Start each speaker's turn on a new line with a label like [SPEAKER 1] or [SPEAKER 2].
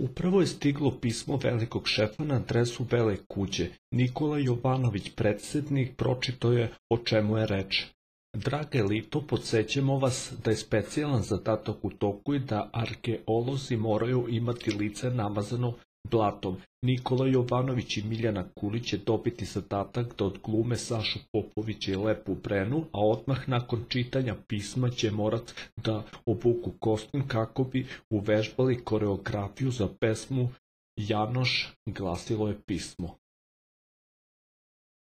[SPEAKER 1] Upravo je stiglo pismo velikog šefa na adresu Bele kuće. Nikola Jovanović, predsjednik, pročitao je o čemu je reč. Draga elito, podsjećamo vas da je specijalan zadatak u toku i da arheolozi moraju imati lice namazano blatom. Nikola Jovanović i Miljana Kulić će dobiti zadatak da odglume Sašu Popovića i Lepu Brenu, a odmah nakon čitanja pisma će morat da obuku kostim kako bi uvežbali koreografiju za pesmu Janoš, glasilo je pismo.